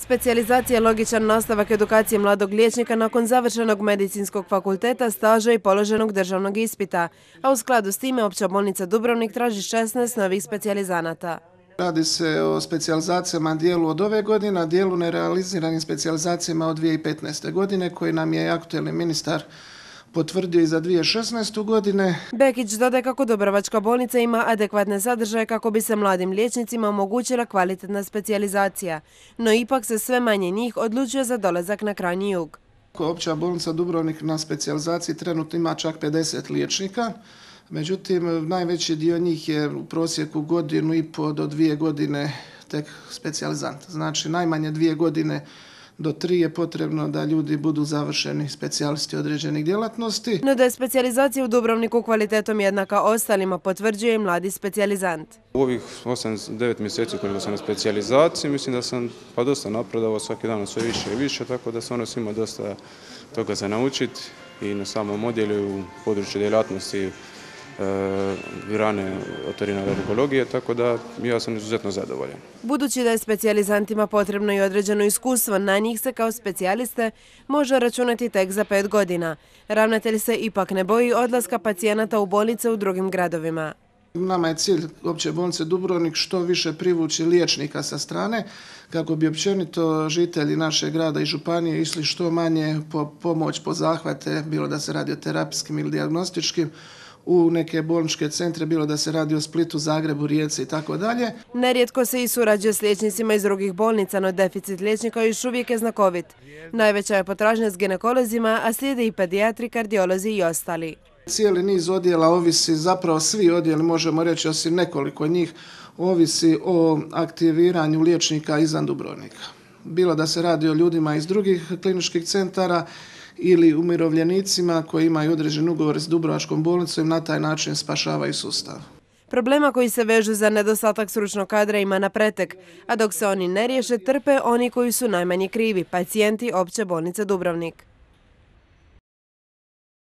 Specijalizacija je logičan nastavak edukacije mladog liječnika nakon završenog medicinskog fakulteta, staža i položenog državnog ispita, a u skladu s time Opća bolnica Dubrovnik traži 16 novih specijalizanata. Radi se o specijalizacijama dijelu od ove godine, a dijelu nerealiziranim specijalizacijama od 2015. godine, koji nam je aktuelni ministar potvrdio i za 2016. godine. Bekić dodaje kako Dubrovačka bolnica ima adekvatne sadržaje kako bi se mladim liječnicima omogućila kvalitetna specijalizacija, no ipak se sve manje njih odlučuje za dolazak na krajnji jug. Opća bolnica Dubrovnik na specijalizaciji trenutno ima čak 50 liječnika, međutim najveći dio njih je u prosjeku 1,5 do 2 godine tek specijalizant. Znači najmanje 2 godine do 3 je potrebno da ljudi budu završeni specijalisti određenih djelatnosti. No da je specijalizacija u Dubrovniku kvalitetom jednaka ostalima, potvrđuje i mladi specijalizant. U ovih 8-9 mjeseci koliko sam na specijalizaciji, mislim da sam dosta napredovao, svaki dan sve više i više, tako da sam ima dosta toga za naučiti i na samom odjelu u području djelatnosti grane otorinolaringologije, tako da ja sam izuzetno zadovoljan. Budući da je specijalizantima potrebno i određeno iskustvo, na njih se kao specijaliste može računati tek za 5 godina. Ravnatelj se ipak ne boji odlaska pacijenata u bolnice u drugim gradovima. Nama je cilj Opće bolnice Dubrovnik što više privući liječnika sa strane, kako bi općenito žitelji našeg grada i županije išli što manje po pomoć, po zahvate, bilo da se radi o terapijskim ili dijagnostičkim, u neke bolničke centre, bilo da se radi o Splitu, Zagrebu, Rijeci i tako dalje. Nerijetko se i surađuje s liječnicima iz drugih bolnica, no deficit liječnika još uvijek je znakovit. Najveća je potražnja s ginekolozima, a slijede i pedijatri, kardiolozi i ostali. Cijeli niz odjela ovisi, zapravo svi odjeli, možemo reći osim nekoliko njih, ovisi o aktiviranju liječnika izvan Dubrovnika. Bilo da se radi o ljudima iz drugih kliničkih centara ili umirovljenicima koji imaju određen ugovor s Dubrovačkom bolnicom i na taj način spašavaju sustav. Problema koji se vežu za nedostatak stručnog kadra ima na pretek, a dok se oni ne riješe, trpe oni koji su najmanje krivi, pacijenti Opće bolnice Dubrovnik.